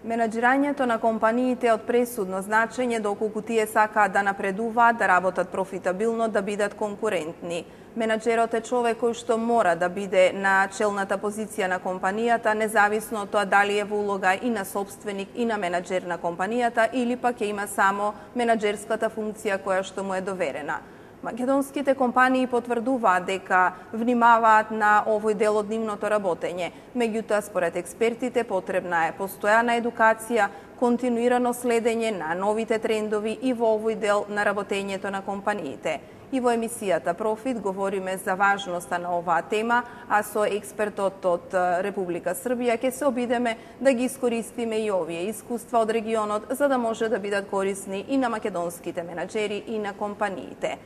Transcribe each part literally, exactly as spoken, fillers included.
Менаџирањето на компаниите е од пресудно значење доколку тие сакаат да напредуваат, да работат профитабилно, да бидат конкурентни. Менаџерот е човек кој што мора да биде на челната позиција на компанијата, независно од тоа дали е во улога и на собственик и на менаџер на компанијата или пак ќе има само менаџерската функција која што му е доверена. Македонските компании потврдуваат дека внимаваат на овој дел од нивното работење. Меѓутоа, според експертите, потребна е постојана едукација, континуирано следење на новите трендови и во овој дел на работењето на компаниите. И во емисијата Профит говориме за важноста на оваа тема, а со експертот од Република Србија ќе се обидеме да ги искористиме и овие искуства од регионот за да може да бидат корисни и на македонските менаџери и на компаниите.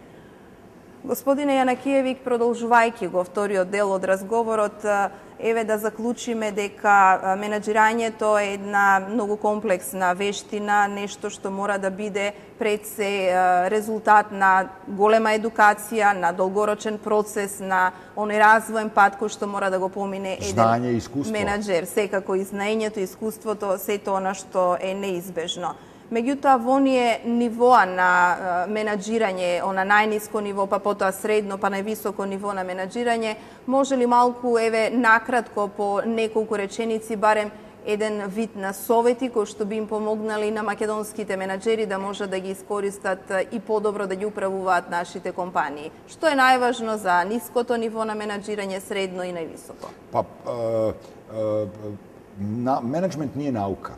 Господине Јанакиевик, продолжувајќи го вториот дел од разговорот, еве да заклучиме дека менаџирањето е една многу комплексна вештина, нешто што мора да биде пред се резултат на голема едукација, на долгорочен процес, на оној развоен пат кој што мора да го помине еден менаџер. Секако и знаењето, искуството, сето она што е неизбежно. Меѓутоа, во оние нивоа на менаџирање, она најниско ниво, па потоа средно, па највисоко ниво на менаџирање, може ли малку, еве, накратко по неколку реченици, барем еден вид на совети кои што би им помогнали на македонските менаџери да може да ги искористат и подобро да ги управуваат нашите компании? Што е најважно за ниското ниво на менаџирање, средно и највисоко? Па, е, е, на, менеджмент nije наука.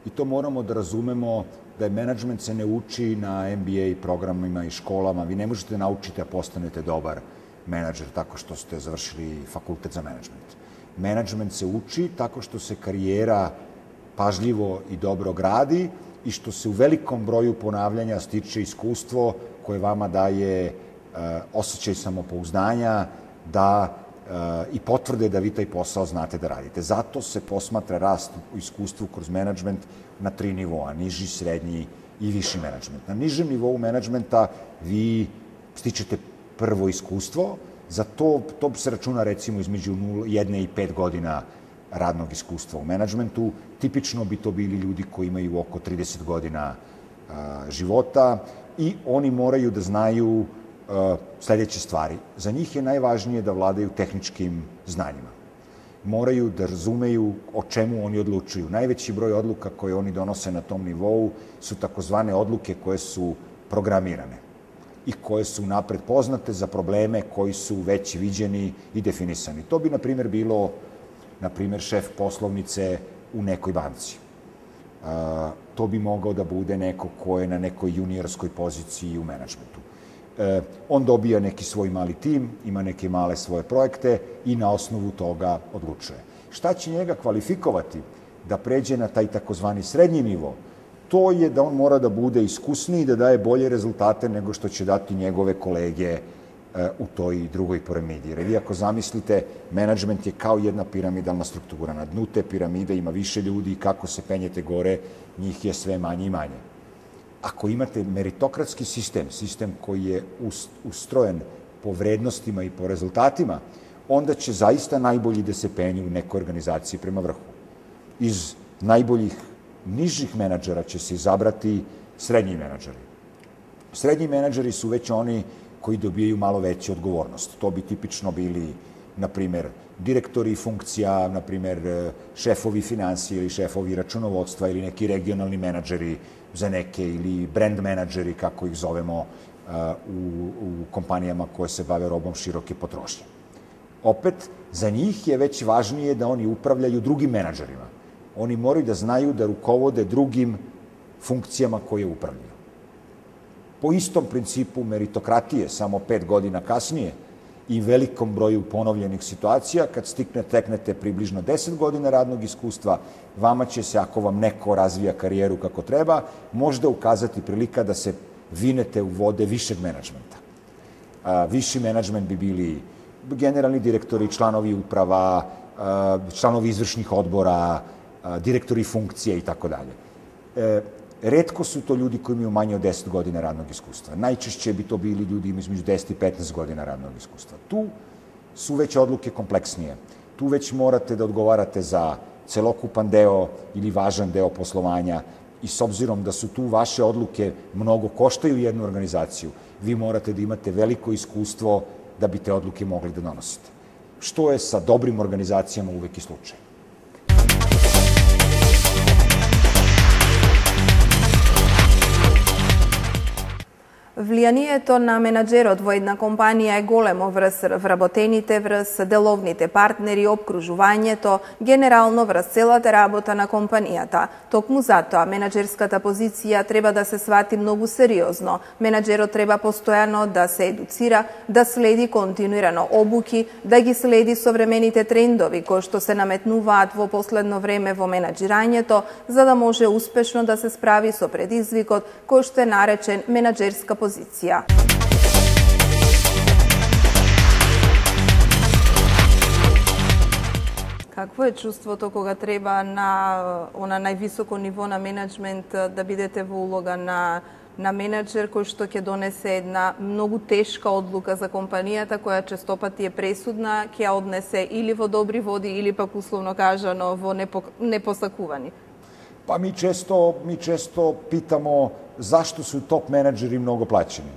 I to moramo da razumemo da je menadžment se ne uči na M B A programima i školama. Vi ne možete naučiti da postanete dobar menadžer tako što ste završili fakultet za menadžment. Menadžment se uči tako što se karijera pažljivo i dobro gradi i što se u velikom broju ponavljanja stiče iskustvo koje vama daje e, osjećaj samopouzdanja da i potvrde da vi taj posao znate da radite. Zato se posmatra rast u iskustvu kroz menadžment na tri nivoa, niži, srednji i viši menadžment. Na nižem nivou menadžmenta vi stičete prvo iskustvo, za to, to se računa recimo između jedne i pet godina radnog iskustva u menadžmentu. Tipično bi to bili ljudi koji imaju oko trideset godina života i oni moraju da znaju sledeće stvari. Za njih je najvažnije da vladaju tehničkim znanjima. Moraju da razumeju o čemu oni odlučuju. Najveći broj odluka koje oni donose na tom nivou su takozvane odluke koje su programirane i koje su napred poznate za probleme koji su već viđeni i definisani. To bi, na primjer, bilo na primjer, šef poslovnice u nekoj banci. To bi mogao da bude neko ko je na nekoj juniorskoj poziciji u menadžmentu. On dobija neki svoj mali tim, ima neke male svoje projekte i na osnovu toga odlučuje. Šta će njega kvalifikovati da pređe na taj takozvani srednji nivo? To je da on mora da bude iskusniji i da daje bolje rezultate nego što će dati njegove kolege u toj drugoj piramidi. Jer vi ako zamislite, menadžment je kao jedna piramidalna struktura. Na dnu te piramide ima više ljudi i kako se penjete gore, njih je sve manje i manje. Ako imate meritokratski sistem, sistem koji je ustrojen po vrednostima i po rezultatima, onda će zaista najbolji da se penju u nekoj organizaciji prema vrhu. Iz najboljih nižih menadžera će se izabrati srednji menadžeri. Srednji menadžeri su već oni koji dobijaju malo veću odgovornost. To bi tipično bili, na primjer, direktori funkcija, na primjer, šefovi finansije ili šefovi računovodstva ili neki regionalni menadžeri za neke ili brand menadžeri, kako ih zovemo u, u kompanijama koje se bave robom široke potrošnje. Opet, za njih je već važnije da oni upravljaju drugim menadžerima. Oni moraju da znaju da rukovode drugim funkcijama koje upravljaju. Po istom principu meritokratije, samo pet godina kasnije i velikom broju ponovljenih situacija, kad stikne, teknete približno deset godina radnog iskustva, vama će se, ako vam neko razvija karijeru kako treba, možda ukazati prilika da se vinete u vode višeg menadžmenta. Viši menadžment bi bili generalni direktori, članovi uprava, članovi izvršnih odbora, direktori funkcije i tako dalje. Retko su to ljudi koji imaju manje od deset godina radnog iskustva. Najčešće bi to bili ljudi između deset i petnaest godina radnog iskustva. Tu su već odluke kompleksnije. Tu već morate da odgovarate za celokupan deo ili važan deo poslovanja i s obzirom da su tu vaše odluke mnogo koštaju jednu organizaciju, vi morate da imate veliko iskustvo da bi te odluke mogli da donosite. Što je sa dobrim organizacijama uvek i slučaj. Влијанието на менаџерот во една компанија е големо врз вработените, врз деловните партнери, обкружувањето, генерално врз целата работа на компанијата. Токму затоа, менаџерската позиција треба да се свати многу сериозно. Менаџерот треба постојано да се едуцира, да следи континуирано обуки, да ги следи современите трендови кои што се наметнуваат во последно време во менаџирањето, за да може успешно да се справи со предизвикот кој што е наречен менаџерска позиција. Позиција. Какво е чувството кога треба на она највисоко ниво на менеджмент да бидете во улога на на менаџер кој што ќе донесе една многу тешка одлука за компанијата која честопати е пресудна, ќе ја однесе или во добри води или пак условно кажано во непосакувани? Pa mi često, mi često pitamo zašto su top menadžeri mnogo plaćeni.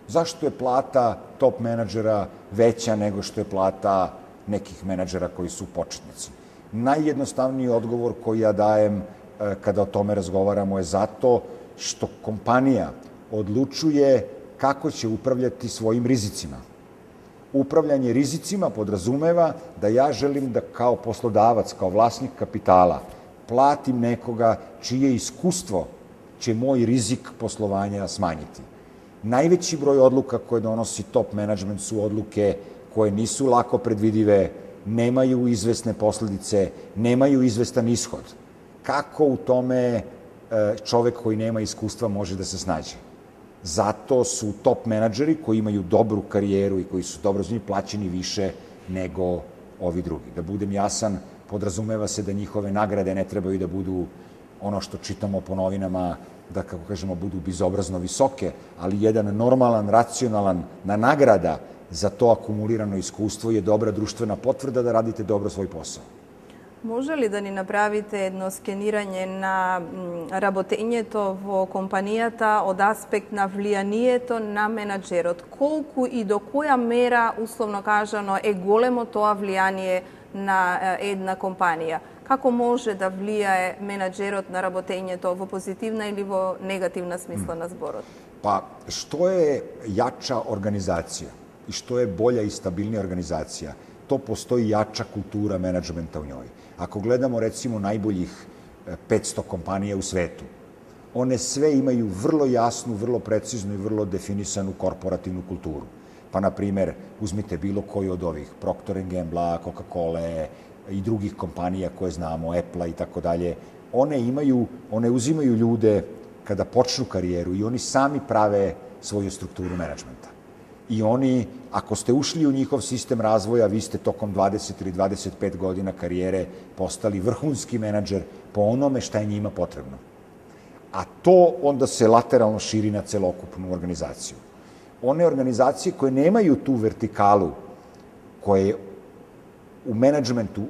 Zašto je plata top menadžera veća nego što je plata nekih menadžera koji su početnici? Najjednostavniji odgovor koji ja dajem kada o tome razgovaramo je zato što kompanija odlučuje kako će upravljati svojim rizicima. Upravljanje rizicima podrazumeva da ja želim da kao poslodavac, kao vlasnik kapitala, platim nekoga čije iskustvo će moj rizik poslovanja smanjiti. Najveći broj odluka koje donosi top management su odluke koje nisu lako predvidive, nemaju izvesne posledice, nemaju izvestan ishod. Kako u tome čovek koji nema iskustva može da se snađe? Zato su top menadžeri koji imaju dobru karijeru i koji su dobro znani plaćeni više nego ovi drugi. Da budem jasan, podrazumeva se da njihove nagrade ne trebaju da budu ono što čitamo po novinama, da, kako kažemo, budu bezobrazno visoke, ali jedan normalan, racionalan na nagrada za to akumulirano iskustvo je dobra društvena potvrda da radite dobro svoj posao. Може ли да ни направите едно скенирање на работењето во компанијата од аспект на влијанието на менаџерот? Колку и до која мера, условно кажано, е големо тоа влијание на една компанија? Како може да влијае менаџерот на работењето во позитивна или во негативна смисла на зборот? Pa, što je jača organizacija i što je bolja i stabilnija organizacija, to postoji jača kultura menadžmenta u njoj. Ako gledamo recimo najboljih petsto kompanija u svetu, one sve imaju vrlo jasnu, vrlo preciznu i vrlo definisanu korporativnu kulturu. Pa, na primer, uzmite bilo koju od ovih, Procter and Gamble, Coca-Cola i drugih kompanija koje znamo, Apple i tako dalje, one imaju, one uzimaju ljude kada počnu karijeru i oni sami prave svoju strukturu menadžmenta. I oni, ako ste ušli u njihov sistem razvoja, vi ste tokom dvadeset ili dvadeset pet godina karijere postali vrhunski menadžer po onome šta je njima potrebno. A to onda se lateralno širi na celokupnu organizaciju. One organizacije koje nemaju tu vertikalu, koje u menadžmentu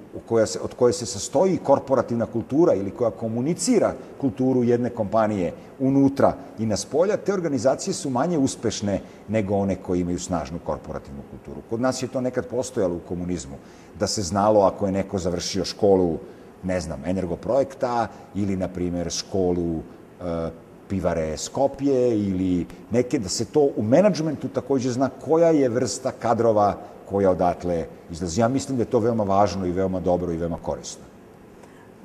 od koje se sastoji korporativna kultura ili koja komunicira kulturu jedne kompanije unutra i na spolja, te organizacije su manje uspešne nego one koje imaju snažnu korporativnu kulturu. Kod nas je to nekad postojalo u komunizmu, da se znalo ako je neko završio školu, ne znam, Energoprojekta ili, na primjer, školu pivare Skopje ili neke, da se to u menadžmentu takođe zna koja je vrsta kadrova koja odatle izlazi. Ja mislim da je to veoma važno i veoma dobro i veoma korisno.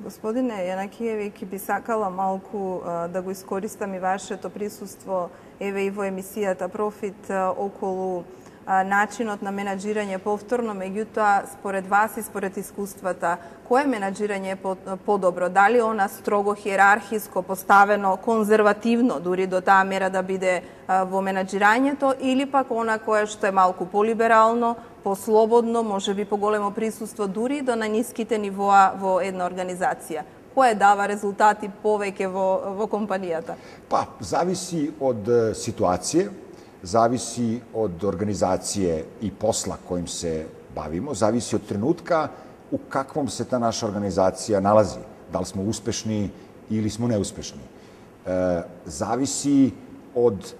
Господине Јанакиевиќ, би сакала малку да го искористам и вашето присуство еве и во емисијата Профит околу начинот на менаџирање повторно, меѓутоа, според вас и според искуствата, кое менаџирање е подобро? Дали она строго хиерархиско поставено, конзервативно, дури до таа мера да биде во менаџирањето, или пак она кое што е малку полиберално, послободно, може би поголемо присуство дури до најниските нивоа во една организација? Кое дава резултати повеќе во, во компанијата? Pa, zavisi od situacije, zavisi od organizacije i posla kojim se bavimo, zavisi od trenutka u kakvom se ta naša organizacija nalazi. Da li smo uspešni ili smo neuspešni. E, zavisi od e,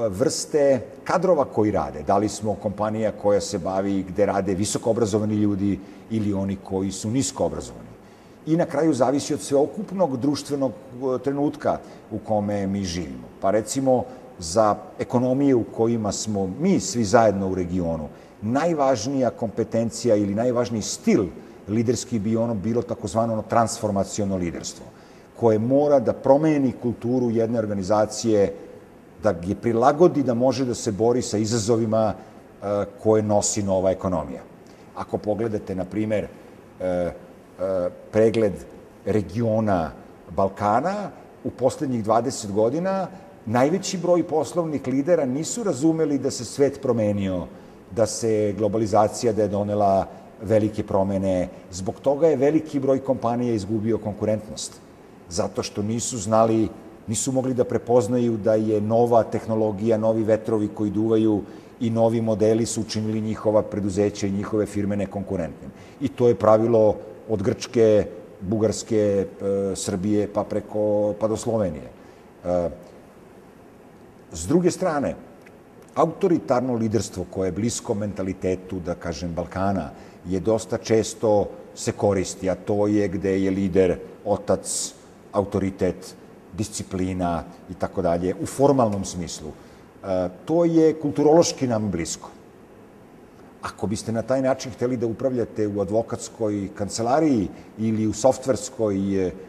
vrste kadrova koji rade. Da li smo kompanija koja se bavi gde rade visoko obrazovani ljudi ili oni koji su nisko obrazovani. I na kraju zavisi od sveokupnog društvenog trenutka u kome mi živimo. Pa recimo, za ekonomije u kojima smo mi svi zajedno u regionu, najvažnija kompetencija ili najvažniji stil liderski bi ono bilo takozvano transformaciono liderstvo, koje mora da promeni kulturu jedne organizacije, da je prilagodi da može da se bori sa izazovima koje nosi nova ekonomija. Ako pogledate, na primer, pregled regiona Balkana, u poslednjih dvadeset godina najveći broj poslovnih lidera nisu razumeli da se svet promenio, da se globalizacija, da je donela velike promene. Zbog toga je veliki broj kompanija izgubio konkurentnost. Zato što nisu znali, nisu mogli da prepoznaju da je nova tehnologija, novi vetrovi koji duvaju i novi modeli su učinili njihova preduzeća i njihove firme nekonkurentnim. I to je pravilo od Grčke, Bugarske, Srbije, pa preko, pa do Slovenije. S druge strane, autoritarno liderstvo koje je blisko mentalitetu, da kažem, Balkana, je dosta često se koristi, a to je gde je lider, otac, autoritet, disciplina i tako dalje, u formalnom smislu. To je kulturološki nam blisko. Ako biste na taj način hteli da upravljate u advokatskoj kancelariji ili u softverskoj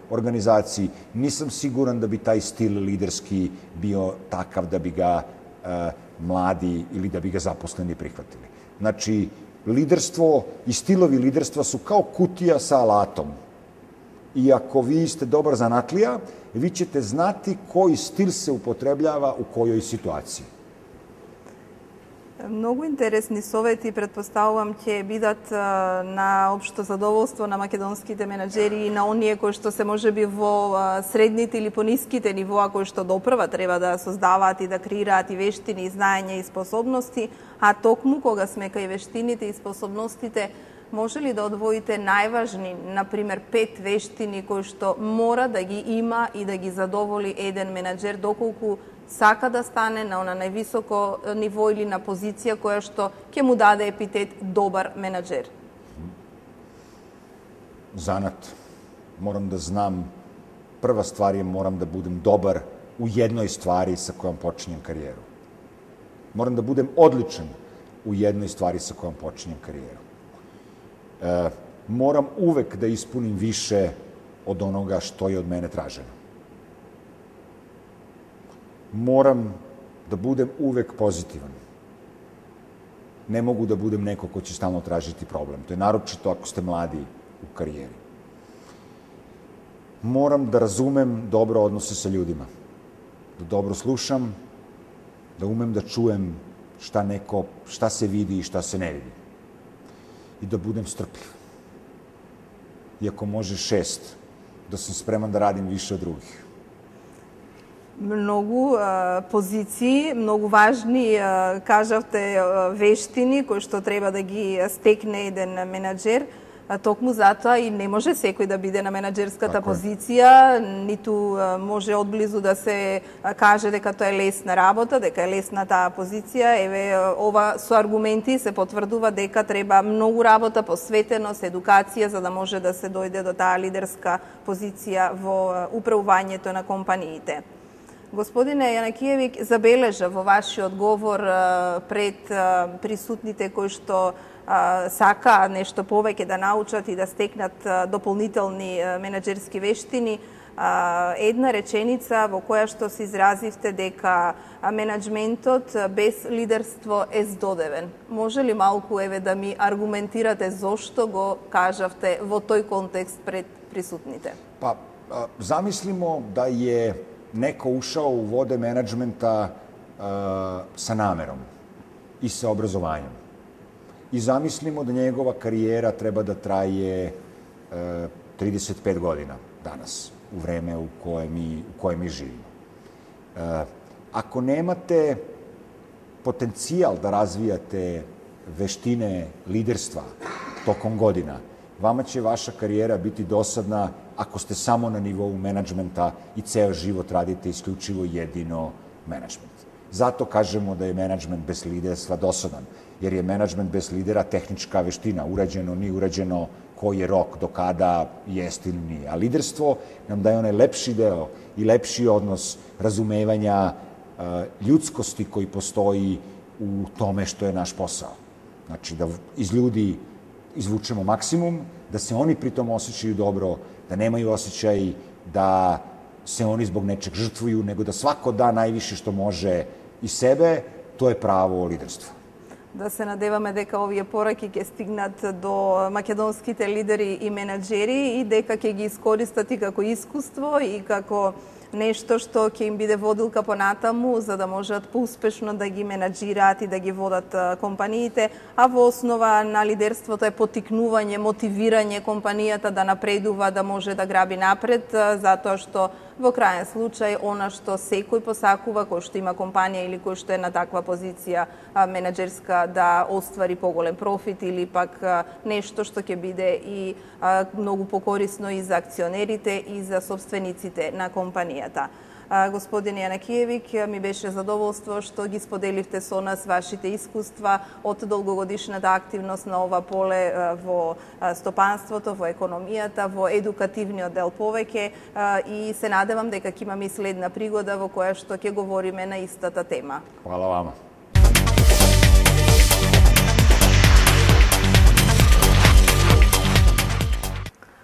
organizaciji, nisam siguran da bi taj stil liderski bio takav da bi ga mladi ili da bi ga zaposleni prihvatili. Znači, liderstvo i stilovi liderstva su kao kutija sa alatom. I ako vi ste dobar zanatlija, vi ćete znati koji stil se upotrebljava u kojoj situaciji. Многу интересни совети, предпоставувам, ќе бидат на општо задоволство на македонските менаџери и на оние кои што се можеби во средните или пониските нивоа кои што допрва треба да создаваат и да креираат и вештини, и знаење и способности, а токму кога сме кај вештините и способностите, може ли да одвоите најважни, например, пет вештини кои што мора да ги има и да ги задоволи еден менаџер доколку сака да стане на она највисоко ниво или на позиција која што ќе му даде епитет добар менаџер? Занат. Морам да знам, прва ствар е морам да будем добар у jednoj ствари sa kojom počinjem karijeru. Moram da budem odličan u jednoj stvari sa kojom počinjem karijeru. E, moram uvek da ispunim više od onoga što je od mene traženo. Moram da budem uvek pozitivan. Ne mogu da budem neko ko će stalno tražiti problem. To je naročito ako ste mladi u karijeri. Moram da razumem dobro odnose sa ljudima. Da dobro slušam, da umem da čujem šta neko, šta se vidi i šta se ne vidi. I da budem strpljiv. Iako može šest, da sam spreman da radim više od drugih. Многу а, позиции, многу важни, а, кажавте, а, вештини кои што треба да ги стекне еден менаџер. А, токму затоа и не може секој да биде на менаџерската Така позиција, ниту а, може одблизу да се а, каже дека тоа е лесна работа, дека е лесна таа позиција. Еве, ова со аргументи се потврдува дека треба многу работа, посветеност, едукација за да може да се дојде до таа лидерска позиција во а, управувањето на компаниите. Господине Јанакиевиќ, забележа во вашиот говор пред присутните кои што сака нешто повеќе да научат и да стекнат дополнителни менаџерски вештини, една реченица во која што се изразивте дека менаџментот без лидерство е здодевен. Може ли малку еве да ми аргументирате зошто го кажавте во тој контекст пред присутните? Па, замислимо да je neko ušao u vode menadžmenta uh, sa namerom i sa obrazovanjem. I zamislimo da njegova karijera treba da traje uh, trideset pet godina danas, u vreme u koje mi, u koje mi živimo. Uh, ako nemate potencijal da razvijate veštine liderstva tokom godina, vama će vaša karijera biti dosadna ako ste samo na nivou menadžmenta i ceo život radite isključivo jedino menadžment. Zato kažemo da je menadžment bez liderstva dosadan, jer je menadžment bez lidera tehnička veština, urađeno, nije urađeno, koji je rok, do kada jest ili nije. A liderstvo nam daje onaj lepši deo i lepši odnos razumevanja ljudskosti koji postoji u tome što je naš posao. Znači, da iz ljudi izvučemo maksimum, da se oni pritom osjećaju dobro, da nemaju osjećaj da se oni zbog nečeg žrtvuju, nego da svako da najviše što može iz sebe, to je pravo liderstvo. Да се надеваме дека овие пораки ќе стигнат до македонските лидери и менаџери и дека ќе ги искористат и како искуство и како нешто што ќе им биде водилка понатаму за да можат поуспешно да ги менаџираат и да ги водат компаниите, а во основа на лидерството е потикнување, мотивирање компанијата да напредува, да може да граби напред, затоа што во крајен случај она што секој посакува, кој што има компанија или кој што е на таква позиција менаџерска да оствари поголем профит или пак нешто што ќе биде и многу покорисно и за акционерите и за собствениците на компанијата. Господин Јанакиевик, ми беше задоволство што ги споделивте со нас вашите искуства од долгогодишната активност на ова поле во стопанството, во економијата, во едукативниот дел повеќе и се надевам дека ќе имаме и следна пригода во која што ќе говориме на истата тема. Хвала вама.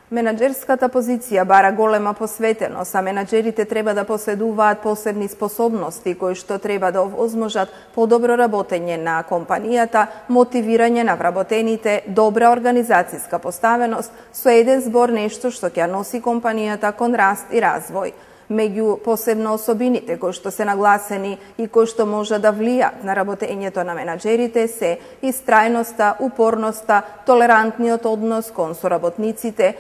Менаџерската позиција бара голема посветеност, а менаџерите треба да поседуваат посебни способности кои што треба да овозможат подобро работење на компанијата, мотивирање на вработените, добра организацијска поставеност со еден збор нешто што ќе носи компанијата кон раст и развој. Меѓу посебно особините кои што се нагласени и кои што може да влијат на работењето на менаџерите се истрајноста, упорноста, толерантниот однос кон соработниците,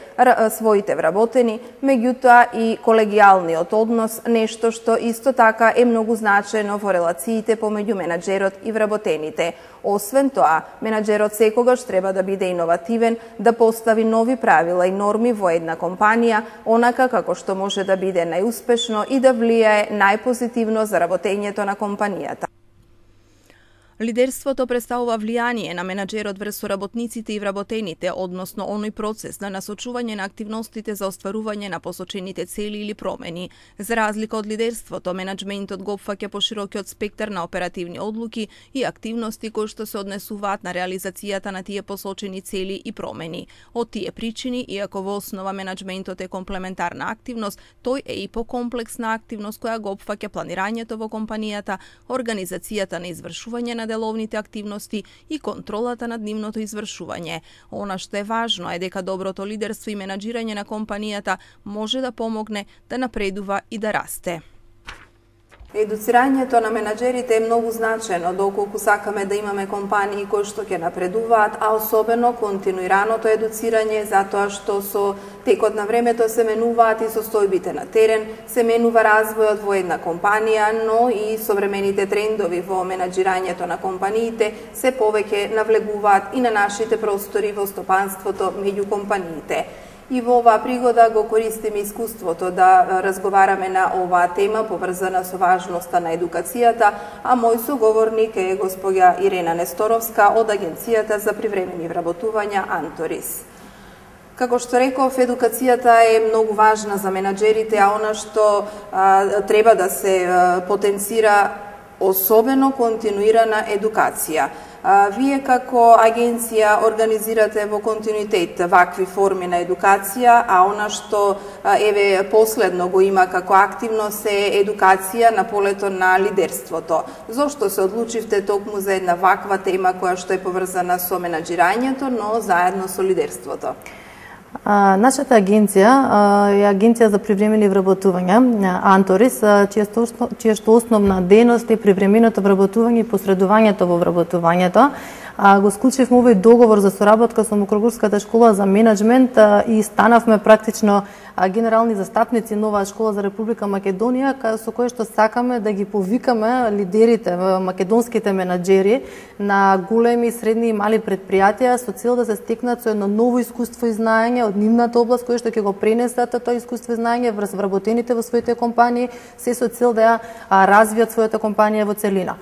своите вработени, меѓутоа и колегијалниот однос, нешто што исто така е многу значено во релациите помеѓу менаџерот и вработените. Освен тоа, менаџерот секогаш треба да биде иновативен, да постави нови правила и норми во една компанија, онака како што може да биде најуспешно и да влијае најпозитивно за работењето на компанијата. Лидерството представува влијание на менаџерот врз соработниците и вработените, односно оној процес на насочување на активностите за остварување на посочените цели или промени. За разлика од лидерството, менаџментот го опфаќа поширокиот спектар на оперативни одлуки и активности кои што се однесуваат на реализацијата на тие посочени цели и промени. Од тие причини, иако во основа менаџментот е комплементарна активност, тој е и покомплексна активност која го опфаќа планирањето во компанијата, организацијата на извршување на деловните активности и контролата над нивното извршување. Она што е важно е дека доброто лидерство и менаџирање на компанијата може да помогне да напредува и да расте. Едуцирањето на менаџерите е многу значено доколку сакаме да имаме компании кои што ќе напредуваат, а особено континуираното едуцирање, затоа што со текот на времето се менуваат и состојбите на терен, се менува развојот во една компанија, но и современите трендови во менаџирањето на компаниите се повеќе навлегуваат и на нашите простори во стопанството меѓу компаниите. И во оваа пригода го користиме искуството да разговараме на оваа тема поврзана со важноста на едукацијата, а мој соговорник е госпоѓа Ирена Несторовска од Агенцијата за привремени вработувања Анторис. Како што реков, едукацијата е многу важна за менаџерите, а она што а, треба да се а, потенцира особено континуирана едукација. Вие како агенција организирате во континуитет вакви форми на едукација, а она што еве последно го има како активност е едукација на полето на лидерството. Зошто се одлучивте токму за една ваква тема која што е поврзана со менаџирањето, но заедно со лидерството? А, нашата агенција е агенција за привремени вработувања Анторис, чија што основна дејност е привременото вработување и посредувањето во вработувањето. а, го склучивме овој договор за соработка со Мокрогорската школа за менеджмент а, и станавме практично а, генерални застапници на оваа школа за Република Македонија, со кој што сакаме да ги повикаме лидерите, македонските менаџери на големи, средни и мали предпријатија со цел да се стекнат со едно ново искуство и знаење од нивната област, кој што ќе го пренесат тоа искуство и знаење врз вработените во своите компании, се со цел да ја развијат својата компанија во целина.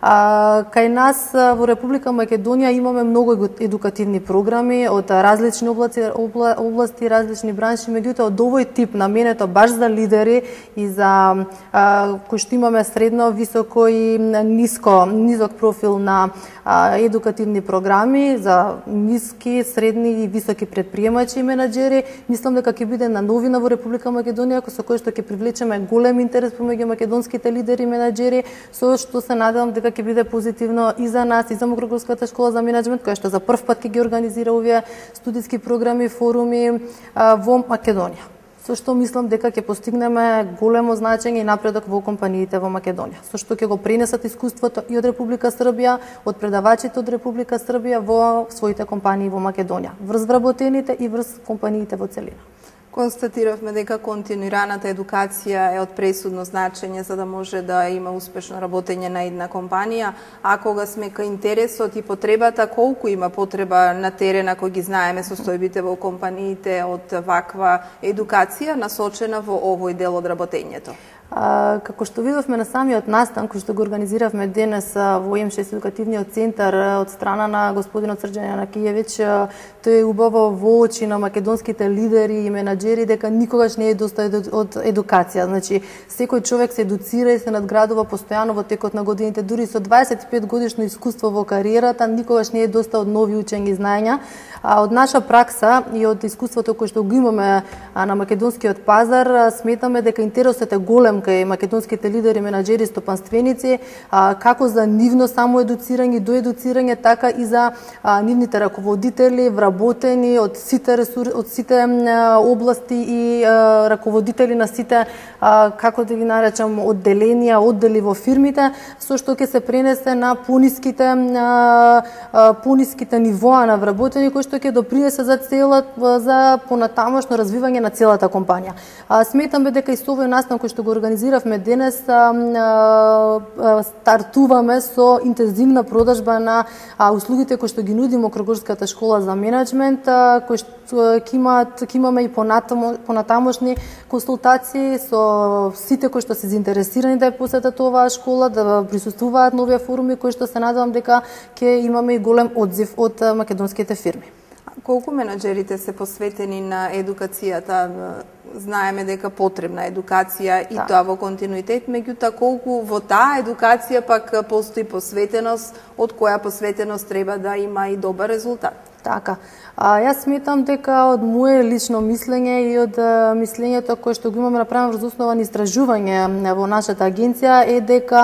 А, кај нас во Република Македонија имаме многу едукативни програми од различни области, обла, области различни бранши, меѓутоа од овој тип наменето баш за лидери и за а, кои што имаме средно, високо и ниско, низок профил на а, едукативни програми за ниски, средни и високи предприемачи и менаџери, мислам дека ќе биде на новина во Република Македонија со кој што ќе привлечеме голем интерес помеѓу македонските лидери и менаџери, со што се надевам дека ќе биде позитивно и за нас, и за Мокрогорската школа за менеджмент, која што за прв пат ќе ги организира овие студиски програми, форуми а, во Македонија. Со што мислам дека ќе постигнеме големо значење и напредок во компаниите во Македонија. Со што ќе го пренесат искуството и од Република Србија, од предавачите од Република Србија во своите компании во Македонија, врз вработените и врз компаниите во целина. Констатиравме дека континуираната едукација е од пресудно значење за да може да има успешно работење на една компанија, а кога сме кај интересот и потребата, колку има потреба на терен, ако ги знаеме состојбите во компаниите од ваква едукација насочена во овој дел од работењето? А, како што видовме на самиот настан кој што го организиравме денес во Ем шест едукативниот центар од страна на господинот Срđan Јанакиевиќ, тој е убаво во очи на македонските лидери и менаџери дека никогаш не е доста од едукација. Значи, секој човек се едуцира и се надградува постојано во текот на годините, дури со дваесет и пет годишно искуство во кариерата, никогаш не е доста од нови учења и знаења. А од наша пракса и од искуството кој што го имаме на македонскиот пазар, сметаме дека интересот е голем кај македонските лидери, менаџери, стопанственици, а, како за нивно само едуцирање, доедуцирање, така и за а, нивните раководители, вработени од сите ресур... од сите а, области и а, раководители на сите, а, како да ги наречам, одделенија, оддели во фирмите, со што ќе се пренесе на пониските а, а, пониските нивоа на вработени, кои што ќе допринесе за цела за понатамошно развивање на целата компанија. А, сметаме дека и со овој настан кој што го организиравме денес, а, а, стартуваме со интензивна продажба на а, услугите кои што ги нуди Мокрогорската школа за менеджмент, а, кои што ќе имаат ќе имаме и понатамо, понатамошни консултации со сите кои што се заинтересирани да ја посетат оваа школа, да присуствуваат на овие форуми кои што се надевам дека ќе имаме и голем одзив од македонските фирми. Колку менаџерите се посветени на едукацијата? Знаеме дека потребна едукација и да. Тоа во континуитет, меѓутоа колку во таа едукација пак постои посветеност, од која посветеност треба да има и добар резултат? Така. А, јас сметам дека од мое лично мислење и од а, мислењето кое што го имаме направено врз основа на истражување во нашата агенција е дека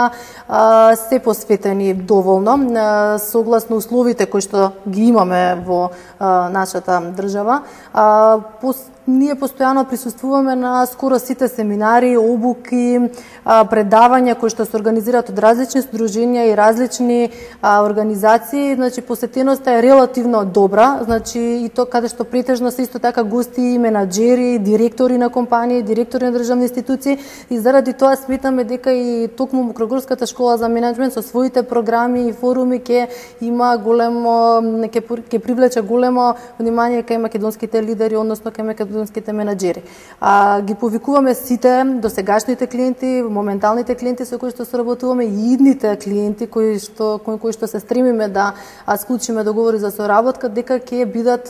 а, се посветени доволно а, согласно условите кои што ги имаме во а, нашата држава. А, пос, ние постојано присуствуваме на скоро сите семинари, обуки, а, предавања кои што се организираат од различни сдруженја и различни а, организации. Значи посетеноста е релативно добра, значи и то каде што претежно се исто така гости и менаџери, директори на компании, директори на државни институции, и заради тоа сметаме дека и токму Мокрогорската школа за менеджмент со своите програми и форуми ќе има големо ќе ќе привлече големо внимание кај македонските лидери, односно кај македонските менаџери. А ги повикуваме сите досегашните клиенти, моменталните клиенти со кои што соработуваме и идните клиенти кои што кои, кои што се стремиме да склучиме договори за соработка, дека ќе бидат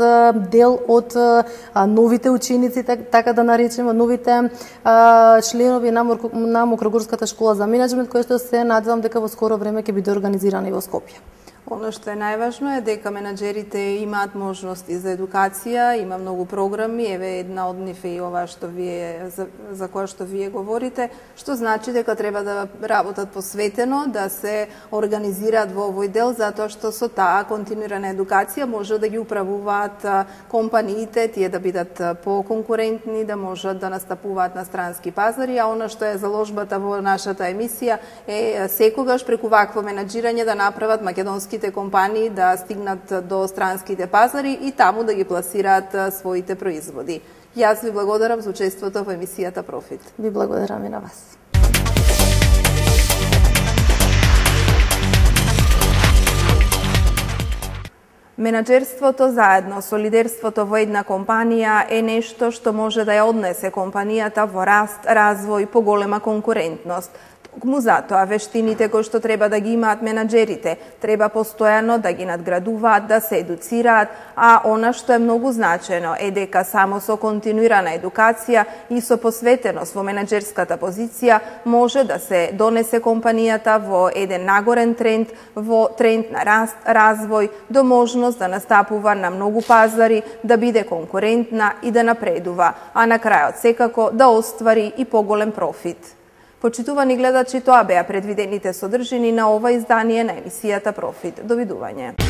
дел од а, новите ученици, така да наречеме, новите а, членови на, на Мокрогорската школа за менеджмент, кој што се надевам дека во скоро време ќе биде организирана и во Скопје. Оно што е најважно е дека менаџерите имаат можности за едукација, има многу програми, еве една од нив е и ова што вие за, за која што вие говорите, што значи дека треба да работат посветено, да се организираат во овој дел, затоа што со таа континуирана едукација може да ги управуваат компаниите, тие да бидат поконкурентни, да можат да настапуваат на странски пазари, а она што е заложбата во нашата емисија е секогаш преку вакво менаџирање да направат македонски македонските компании да стигнат до странските пазари и таму да ги пласираат своите производи. Јас ви благодарам за учеството во емисијата Профит. Ви благодарам и на вас. Менаџерството заедно со лидерството во една компанија е нешто што може да ја однесе компанијата во раст, развој, поголема конкурентност. Токму затоа вештините кои што треба да ги имаат менаџерите треба постојано да ги надградуваат, да се едуцираат, а она што е многу значено е дека само со континуирана едукација и со посветеност во менаџерската позиција може да се донесе компанијата во еден нагорен тренд, во тренд на раст, развој, до можност да настапува на многу пазари, да биде конкурентна и да напредува, а на крајот секако да оствари и поголем профит. Почитувани гледачи, тоа беа предвидените содржини на ова издание на емисијата Профит. Довидување.